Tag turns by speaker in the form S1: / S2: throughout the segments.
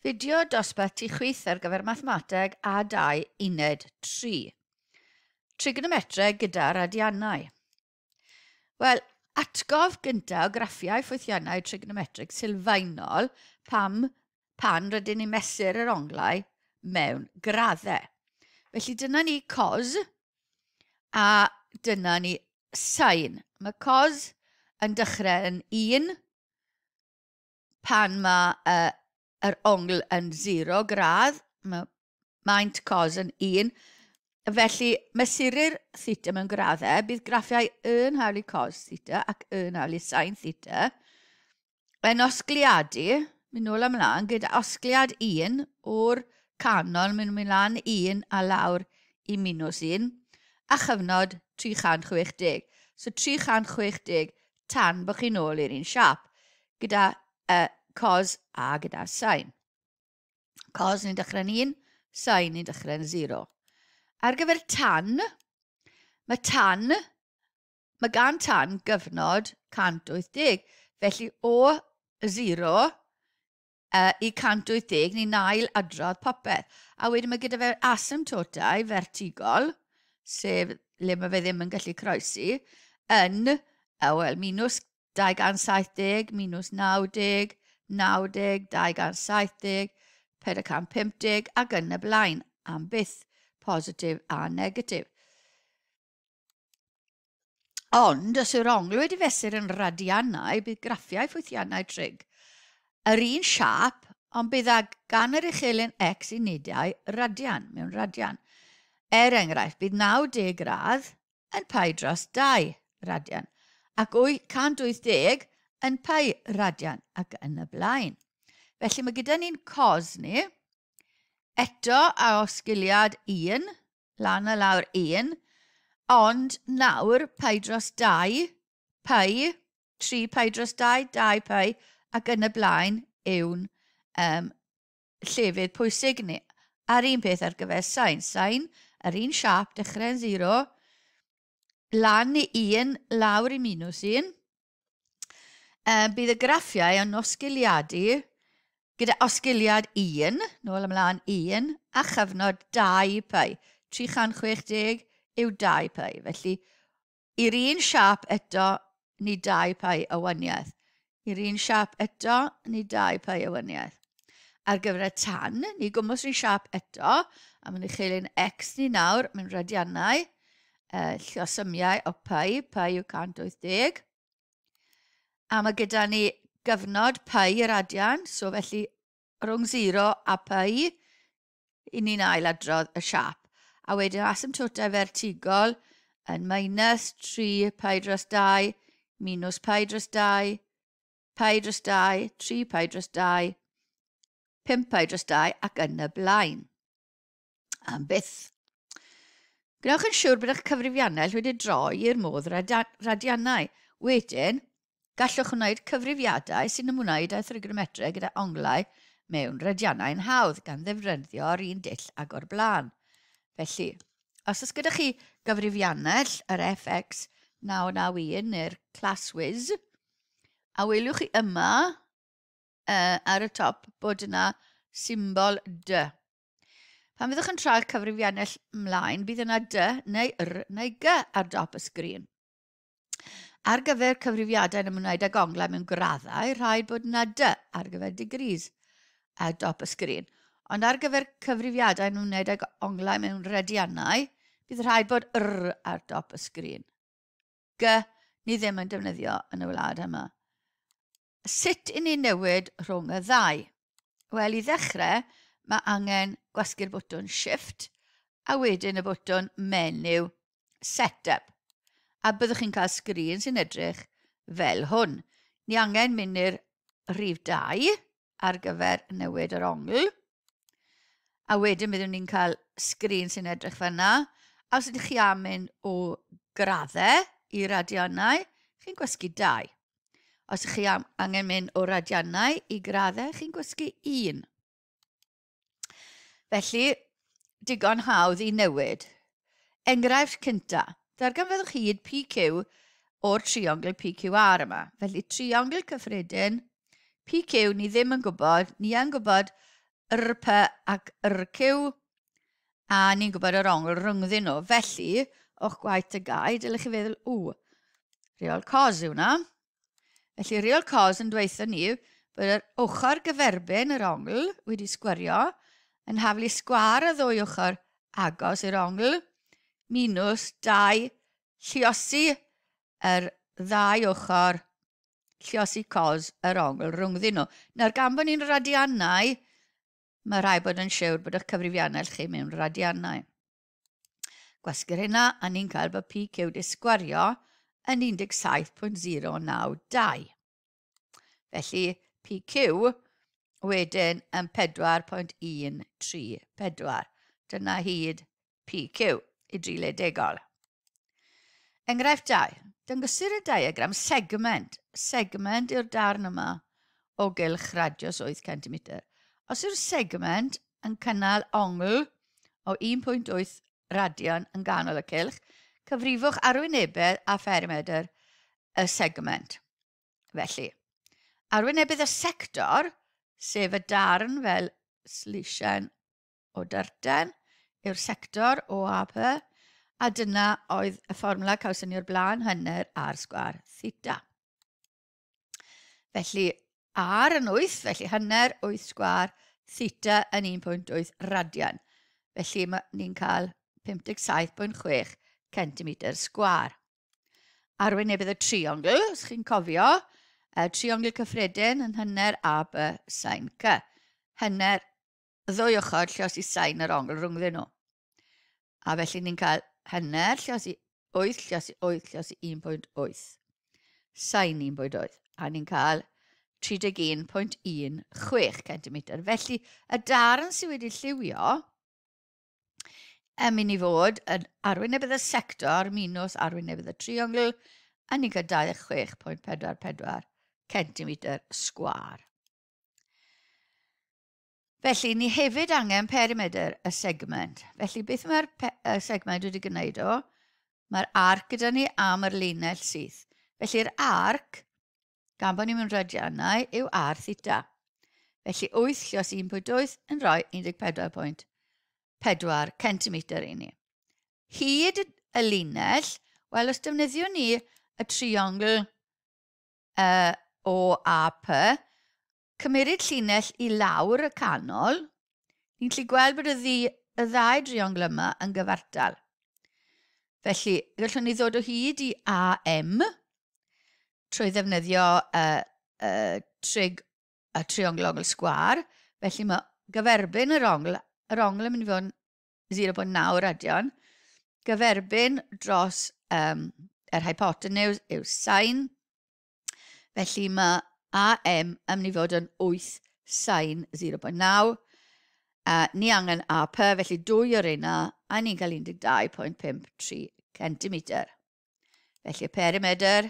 S1: Fideo dosbarth tu chwith ar gyfer Mathemateg A2 Uned 3. Trigonometreg gyda radiannau. Wel, atgof gyntaf o graffiau ffwythiannau trigonometrig sylfaenol pam pan rydyn ni'n mesur yr onglau mewn graddau. Felly dyna ni cos a dyna ni sain. Mae cos yn dechrau yn 1, pan mae yr ongl yn 0 gradd, mae maint cos yn 1, felly mesurir theta mewn graddau, bydd graffiau yn hawl i cos theta ac yn hawl i sin theta yn osgliadu, mynd nôl ymlaen, gyda osgliad 1 o'r canol, mynd mynd lan 1 a lawr i minus 1, a chyfnod 360. So 360 tan bod chi'n ôl i'r un siap, gyda cos a gyda sin. Cos ni'n dechrau'n 1, sin ni'n dechrau'n 0. Ar gyfer tan, mae tan, mae gan tan gyfnod 180, felly o 0 i 180 ni'n ail adrodd popeth. A wedyn mae gyda fe asymptotau vertigol, sef le mae fe ddim yn gallu croesi, yn, wel, minus 270, minus 90, 90, 270, 450 ac yn y blaen, am byth, positif a negatif. Ond, os yw'r ongl wedi fesur yn radiannau, bydd graffiau ffwythiannau trig yr un siâp, ond bydd ag gan yr uchelyn x unedau radian, mewn radian. Er enghraifft, bydd 90 gradd yn pi dros 2 radian, ac 180 yn pi radian, ac yn y blaen. Felly mae gyda ni'n cos ni, eto a osgiliad 1, lan a lawr 1, ond nawr pi dros 2, pi, 3 pi dros 2, 2 pi, ac yn y blaen yw'n llefydd pwysig ni. A'r un peth ar gyfer sain. Sain, yr un siâp, dechrau'n 0, lan i 1, lawr i minus 1. Bydd y graffiau yn osgiliadu gyda osgiliad 1, nôl ymlaen 1, a chyfnod 2 pi. 360 yw 2 pi. Felly, i'r un siâp eto, ni 2 pi o waniaeth. I'r un siâp eto, ni 2 pi o waniaeth. Ar gyfer y tan, ni gwmwys rhywun siâp eto, a mae'n uchelyn x ni nawr mewn radiannau, lluosymiau o pi, pi yw 180. A mae gyda ni gyfnod pi y radian, so felly rhwng 0 a pi, i ni'n ailadrodd y siâp. A wedyn asymptotau vertigol yn minus 3 pi dros 2, minus pi dros 2, pi dros 2, 3 pi dros 2, 5 pi dros 2 ac yn y blaen. Am byth. Gwnewch yn siŵr bod eich cyfrifiannell wedi droi i'r modd radiannau. Wedyn, gallwch wneud cyfrifiadau sy'n ymwneud â thrigonometreg gyda onglau mewn radiannau'n hawdd gan ddefnyddio'r un dull ag o'r blaen. Felly, os oes gyda chi gyfrifiannell yr FX 991 neu'r ClassWiz, a welwch chi yma ar y top bod yna symbol D. Pan fyddwch yn troi'r cyfrifiannell ymlaen, bydd yna D neu R neu G ar dop y sgrin. Ar gyfer cyfrifiadau yn ymwneud ag onglau mewn graddau, rhaid bod yna D ar gyfer degrees ar dop y sgrin. Ond ar gyfer cyfrifiadau yn ymwneud ag onglau mewn radiannau, bydd rhaid bod R ar dop y sgrin. G ni ddim yn defnyddio yn y wlad yma. Sut i ni newid rhwng y ddau? Wel, i ddechrau, mae angen gwasgu'r botwm Shift a wedyn y botwm menu Setup. A byddwch chi'n cael sgrin sy'n edrych fel hwn. Ni angen mynd i'r rhif 2 ar gyfer newid yr ongl. A wedyn byddwn ni'n cael sgrin sy'n edrych fel yna. A os ydych chi am mynd o graddau i radiannau, chi'n gwasgu 2. Os ydych chi am angen mynd o radiannau i graddau, chi'n gwasgu 1. Felly, digon hawdd i newid. Enghraifft cynta, darganfyddwch hyd PQ o'r triongl PQR yma. Felly, triongl cyffredin, PQ ni ddim yn gwybod, ni yn gwybod RP ac RQ, a ni'n gwybod yr ongl rhyngddyn nhw. Felly, o'ch gwaith y gau, dylech chi feddwl, ww, reol cos yw hwnna. Felly, reol cos yn dweithio ni bod yr ochr gyferbyn yr ongl wedi sgwario yn haflu sgwar y ddwy ochr agos i'r ongl minus 2 lliosi yr ddau ochr lliosi cos yr ongl rhwngddyn nhw. Nawr, gan bod ni'n radiannau, mae rhaid bod yn siwr bod eich cyfrifiannell chi mewn radiannau. Gwasgu'r hynna, a ni'n cael bod PQ wedi sgwario yn 17.092. Felly, PQ wedyn yn 4.134. Dyna hyd PQ i drile degol. Enghraifft 2. Dangosir y diagram segment. Segment yw'r darn yma o gylch radius 8 cm. Os yw'r segment yn cynnal ongl o 1.8 radian yn ganol y cylch, cyfrifwch arwynebedd a pherimetr y segment. Felly, arwynebedd y sector, sef y darn fel slisien o dyrten yw'r sector OAP, a dyna oedd y fformwla cawson ni o'r blaen, hanner r sgwar theta. Felly, r yn 8, felly hanner 8 sgwar theta yn 1.8 radian. Felly, ni'n cael 57.6 cm sgwar. Arwynebedd y triongl, os chi'n cofio, y triongl cyffredin yn hanner A, B, sin C. Hanner ddwy ochr lliosi sain yr ongl rhwngddyn nhw. A felly ni'n cael hanner lliosi 8 lliosi 8 lliosi 1.8. Sain 1.8. A ni'n cael 31.16 cm. Felly, y darn sydd wedi lliwio yn mynd i fod yn arwynebedd y sector minus arwynebedd y triongl, a ni'n cael 26.44 cm sgwâr. Felly, ni hefyd angen perimedr y segment. Felly, beth mae'r y segment wedi gwneud o? Mae'r arc gyda ni am yr linell syth. Felly'r arc, gan bod ni'n mynd radiannau, yw r theta. Felly 8 llios 1.8 yn rhoi 14.4 cm i ni. Hyd y linell, wel, os defnyddiwn ni y triongl OAP, cymeryd llinell i lawr y canol, ni'n gallu gweld bod y, ddi, y ddau driongl yma yn gyfartal. Felly, gallwn ni ddod o hyd i AM trwy ddefnyddio trig y triongl ongl sgwar. Felly mae gyferbyn yr ongl, yr ongl yn mynd i fod yn 0.9 radian. Gyferbyn dros yr hypotenuse yw sin. Felly mae AM yn mynd i fod yn 8 sin 0.9. Ni angen AP, felly dwy o'r reina, a ni'n cael 12.53 cm. Felly y perimedr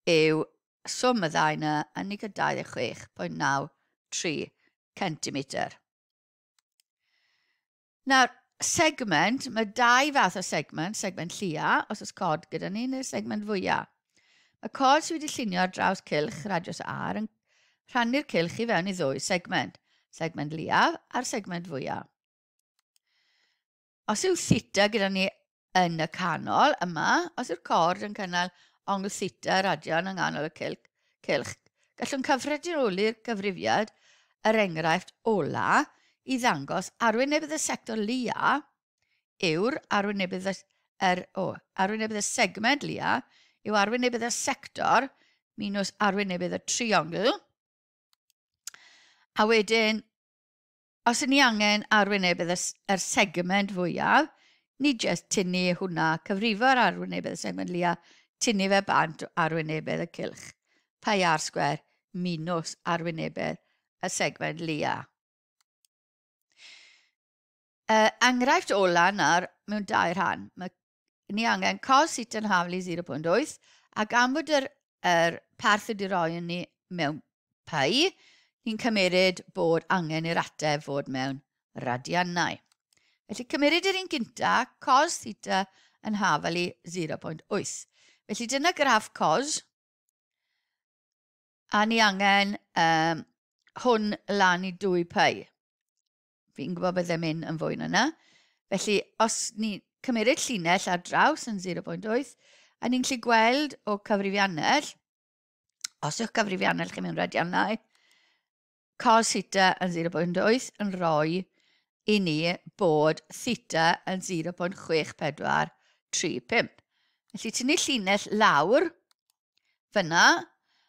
S1: yw swm y ddau yna, a ni'n cael 26.93 cm. Nawr, segment, mae dau fath o segment, segment llia, os oes cod gyda ni, neu'r segment fwyaf. Mae cod sydd wedi llunio ar draws cylch radius R yn rhannu'r cylch i fewn i ddwy segment, segment leiaf a'r segment fwyaf. Os yw theta gyda ni yn y canol yma, os yw'r cord yn cynnal ongl theta radian yng nghanol y cylch, cylch gallwn cyffredinoli'r cyfrifiad yr enghraifft ola i ddangos arwynebedd y sector lia yw'r arwynebedd y, er, o, arwynebedd y segment lia yw arwynebedd y sector minus arwynebedd y triongl. A wedyn, os ydyn ni angen arwynebedd y, yr segment fwyaf, ni jyst tynnu hwnna, cyfrifo'r arwynebedd y segment lia, tynnu fe bant o arwynebedd y cylch. Pi r sgwêr minus arwynebedd y segment lia. Enghraifft ola nawr mewn dau rhan. Mae ni angen cos theta yn haflu 0.8 a gan bod yr, yr parth wedi roi yn ni mewn pi, ni'n cymeryd bod angen i'r ateb fod mewn radiannau. Felly cymeryd yr un gynta, cos theta yn hafal i 0.8. Felly dyna graff cos, a ni angen hwn lan i 2 pi. Fi'n gwybod bydde mynd yn fwy na yna. Felly, os ni cymeryd llinell ar draws yn 0.8, a ni'n gallu gweld o cyfrifiannell, os yw'ch cyfrifiannell chi mewn radiannau, cos theta yn 0.8 yn rhoi i ni bod theta yn 0.6435. Felly tynnu llinell lawr fyna,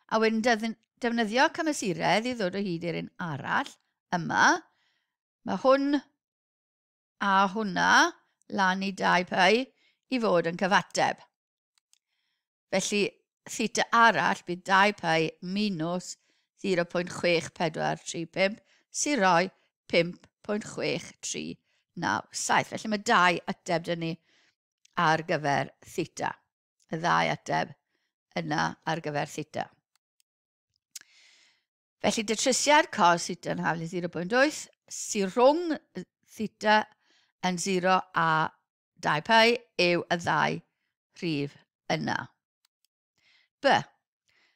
S1: a wedyn defnyddio cymesuredd i ddod o hyd i'r un arall yma. Mae hwn a hwnna lan i 2 pi i fod yn cyfateb. Felly, theta arall bydd 2 pi minus 0.6435 sy'n rhoi 5.6397. Felly mae dau ateb dyn ni ar gyfer theta. Y ddau ateb yna ar gyfer theta. Felly datrysiad cos theta yn haflu 0.8 sy'n rhwng theta yn 0 a 2 pi yw y ddau rhif yna. B.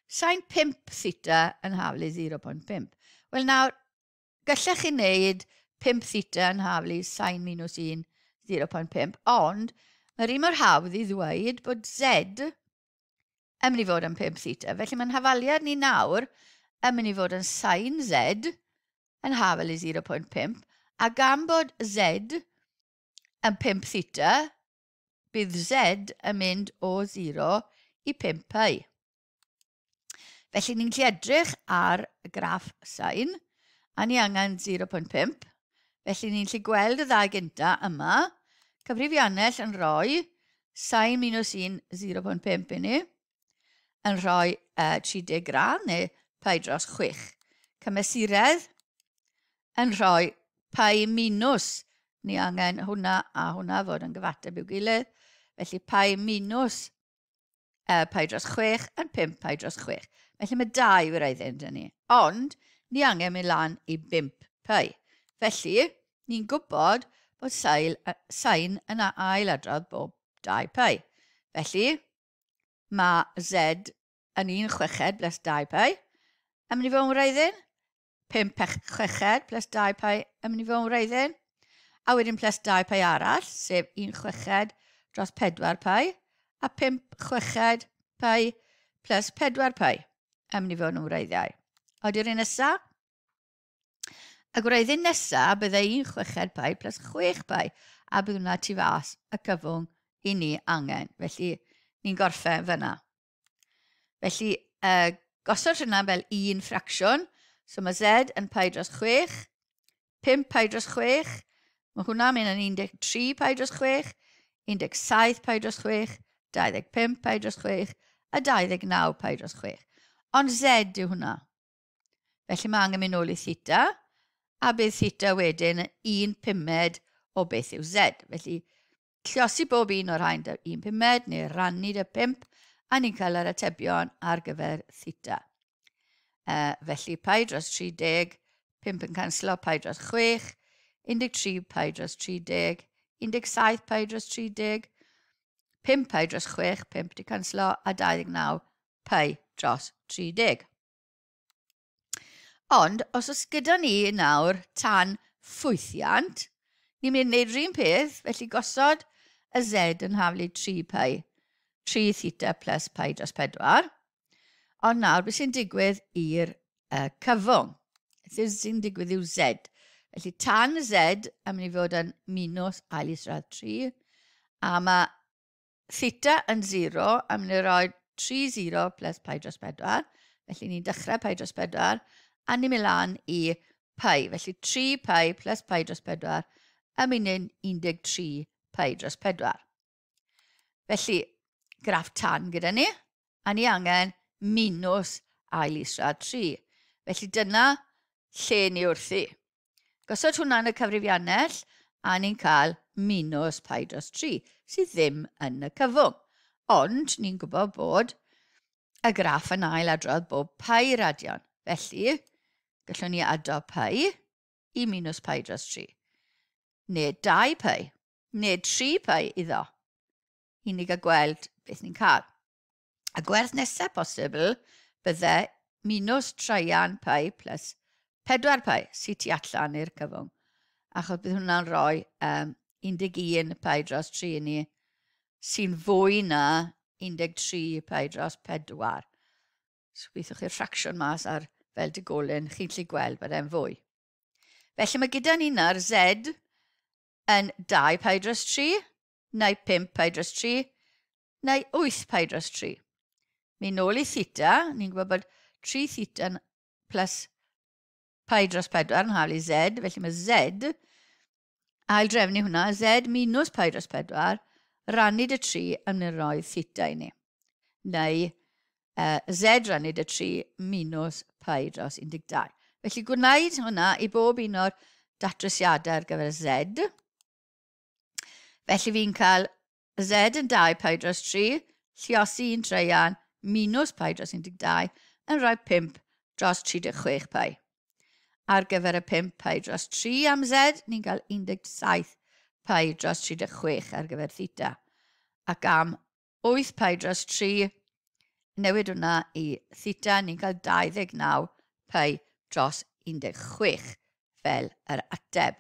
S1: Sain 5 theta yn haflu 0.5. Wel nawr, gallech chi wneud 5 theta yn haflu sain minus 1, 0.5, ond mae'r un mor hawdd i ddweud bod z yn mynd i fod yn 5 theta. Felly mae'n hafaliad ni nawr yn mynd i fod yn sain z yn hafal i 0.5, a gan bod z yn 5 theta, bydd z yn mynd o 0 i 5 pi. Felly ni'n gallu edrych ar y graff sain, a ni angen 0.5. Felly ni'n gallu gweld y ddau gynta yma. Cyfrifiannell yn rhoi sain minus 1, 0.5 i ni, yn rhoi 30 gradd neu pi dros 6. Cymesuredd yn rhoi pi minus, ni angen hwnna a hwnna fod yn gyfateb i'w gilydd. Felly pi minus pi dros 6 yn 5 pi dros 6. Felly mae dau wreiddyn dyn ni. Ond ni angen mynd lan i 5 pi. Felly ni'n gwybod bod sain yn ailadrodd bob 2 pi. Felly mae z yn 1 chweched plus 2 pi. Yn mynd i fod yn wreiddyn. 5 chweched plus 2 pi yn mynd i fod yn wreiddyn. A wedyn plus 2 pi arall, sef 1 chweched dros 4 pi, a 5 chweched pi plus 4 pi yn mynd i fod yn wreiddiau. Oeddi'r un nesaf? Y gwreiddyn nesaf byddai 1 chweched pi plus 6 pi, a bydd hwnna tu fas y cyfwng i ni angen. Felly, ni'n gorffen fyna. Felly, gosod hwnna fel un ffracsiwn. So mae z yn pi dros 6, 5 pi dros 6, mae hwnna'n mynd yn 13 pi dros 6, 17 pi dros 6, 25 pi dros 6 a 29 pi dros 6. Ond z yw hwnna. Felly mae angen mynd nôl i theta, a bydd theta wedyn yn 1/5 o beth yw z. Felly, lliosi bob un o'r rhain dy 1/5 neu rannu dy 5, a ni'n cael yr atebion ar gyfer theta. Felly, pi dros 30, 5 yn canslo, pi dros 6, 13 pi dros 30, 17 pi dros 30, 5 pi dros 6, 5 di canslo, a 29 pi dros 30. Ond, os oes gyda ni nawr tan ffwythiant, ni'n mynd i wneud yr un peth, felly gosod y z yn haflu 3 pi, 3 theta plus pi dros 4. Ond nawr, beth sy'n digwydd i'r cyfwng? Beth sy'n digwydd yw z. Felly tan z yn mynd i fod yn minus ail isradd 3, a mae theta yn 0 yn mynd i roi 3 0 plus pi dros 4. Felly ni'n dechrau pi dros 4, a ni'n mynd lan i pi. Felly 3 pi plus pi dros 4 yn mynd yn 13 pi dros 4. Felly, graff tan gyda ni, a ni angen minus ail isradd 3. Felly dyna lle ni wrthi. Gosod hwnna yn y cyfrifiannell, a ni'n cael minus pi dros 3, sydd ddim yn y cyfwng. Ond ni'n gwybod bod y graff yn ailadrodd bob pi radion. Felly, gallwn ni ado pi i minus pi dros 3. Neu 2 pi, neu 3 pi iddo. I ni gael gweld beth ni'n cael. A gwerth nesaf posibl bydde minus traean pi plus 4 pi sydd tu allan i'r cyfwng. Achos bydd hwnna'n rhoi 11 pi dros 3 i ni, sy'n fwy na 13 pi dros 4. So gweithiwch chi'r ffracsiwn mas ar fel digolyn, chi'n gallu gweld bod e'n fwy. Felly mae gyda ni nawr Z yn 2 pi dros 3, neu 5 pi dros 3, neu 8 pi dros 3. Mi nôl i theta, ni'n gwybod bod 3 theta plus pi dros 4 yn haflu Z, felly mae Z, ail drefnu hwnna, Z minus pi dros 4, rannu dy 3 yn mynd roi theta i ni. Neu Z rannu dy 3 minus pi dros 12. Felly gwneud hwnna i bob un o'r datrysiadau ar gyfer Z. Felly fi'n cael Z yn 2 pi dros 3, lliosi 1 treian, minus pi dros 12, yn rhoi 5 dros 36 pi. Ar gyfer y 5 pi dros 3 am Z, ni'n cael 17 pi dros 36 ar gyfer theta. Ac am 8 pi dros 3, newid hwnna i theta, ni'n cael 29 pi dros 16 fel yr ateb.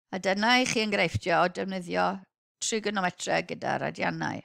S1: A dyna i chi enghreifftiau o defnyddio trigonometreg gyda radiannau.